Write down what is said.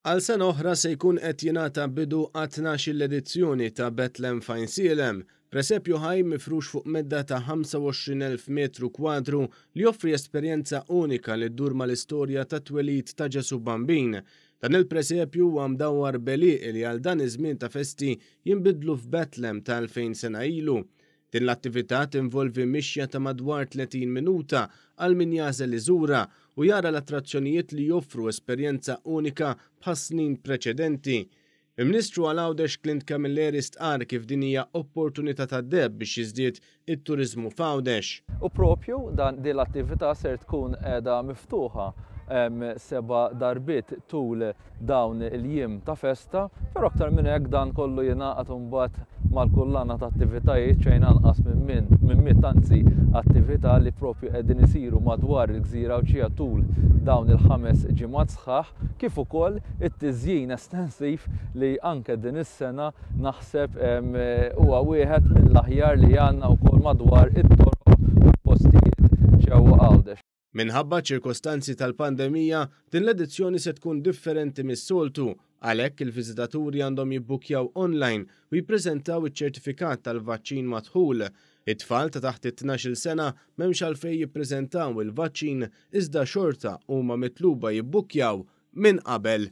Għal sena oħra se jkun qed jingħata bidu għat-tnax-il edizzjoni ta' Bethlehem f'Għajnsielem, presepju ħaj mifrux fuq medda ta' 25,000 metru kwadru li joffri esperjenza unika li ddur mal-istorja tat-twelid ta' Ġesù Bambin. Dan il-presepju huwa mdawwar b'għelieqi li għal dan iż-żmien ta' festi jinbidlu f'Bethlehem ta' 2000 sena ilu. Din l-attività tinvolvi mixja ta' madwar 30 minuta għal min jagħżel iżurha u jara l-attrazzjonijiet li joffru esperjenza unika bħas-snin preċedenti. Il-Ministru għal Għawdex Clint Camilleri stqarr kif din hija opportunità tad-deheb biex jiżdied it-turiżmu f'Għawdex. U propju dan din l-attività ser tkun qiegħda miftuħa seba' darbiet tul dawn il-jiem ta' festa, però aktar minn hekk dan kollu jingħaqad imbagħad mal-kullana ta' attivitajiet xejn anqas minn min minn mitt anzi attività li propju qegħdin isiru madwar il-gżira Għawdxija tul dawn il-ħames ġimgħat sħaħ, kif ukoll it-tiżjin estensiv li anke din is-sena naħseb huwa wieħed mill-aħjar li għandna wkoll madwar it-toroq u l-postijiet ġewwa Għawdex. Minħabba ċ-ċirkostanzi tal-pandemija, din l-edizzjoni se tkun differenti mis-soltu, għalhekk il-viżitaturi għandhom jibbukkjaw online u jippreżentaw iċ-ċertifikat tal-vaċċin mad-dħul. It-tfal ta' taħt it-tnax-il sena m'hemmx għalfejn jippreżentaw il-vaċċin iżda xorta huma mitluba jibbukkjaw minn qabel.